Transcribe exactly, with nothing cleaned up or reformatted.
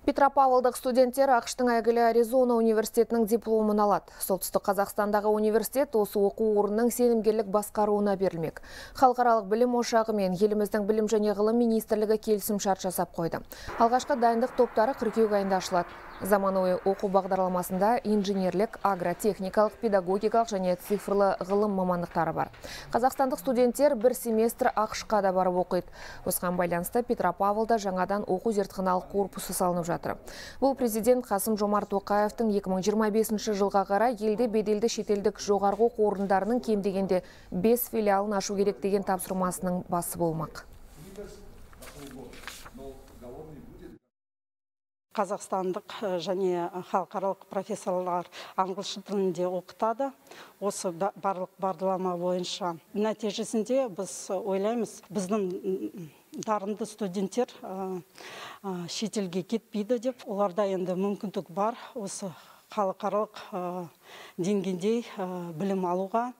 Петропавлдық студенттер ақштың әйгілі Аризона университетінің дипломын алады. Солтүстік Қазақстандағы университет осы оқу орнының сенімгерлік басқаруына берілмек. Халықаралық білім ошағы мен еліміздің білім және ғылым министрлігі келісімшарт жасап қойды. Алғашқы дайындық топтары қыркүйек айында ашылады. Заманауи оқу бағдарламасында инженерлік, агротехникалық, педагогикалық және цифрлы ғылым мамандықтары бар. Қазақстандық студенттер бір семестр ақшқа да барып оқиды. Осыған байланысты Петропавлда жаңадан оқу зертханалық корпусы салынып жатыр. Бұл президент Қасым Жомарт Тоқаевтың екі мың жиырма бесінші жылға қарай елде беделді шетелдік жоғарғы оқу орындарының кем дегенде бес филиалын ашу керек деген тапсырмасының басы болмақ. Қазақстандық және халықаралық профессорлар ағылшын тілінде оқытады. Осы барлық бағдарлама бойынша. Нәтижесінде біз ойлаймыз, біздің дарынды студенттер шетелге кетпейді деп, оларда енді мүмкіндік бар осы халықаралық деңгейде білім алуға.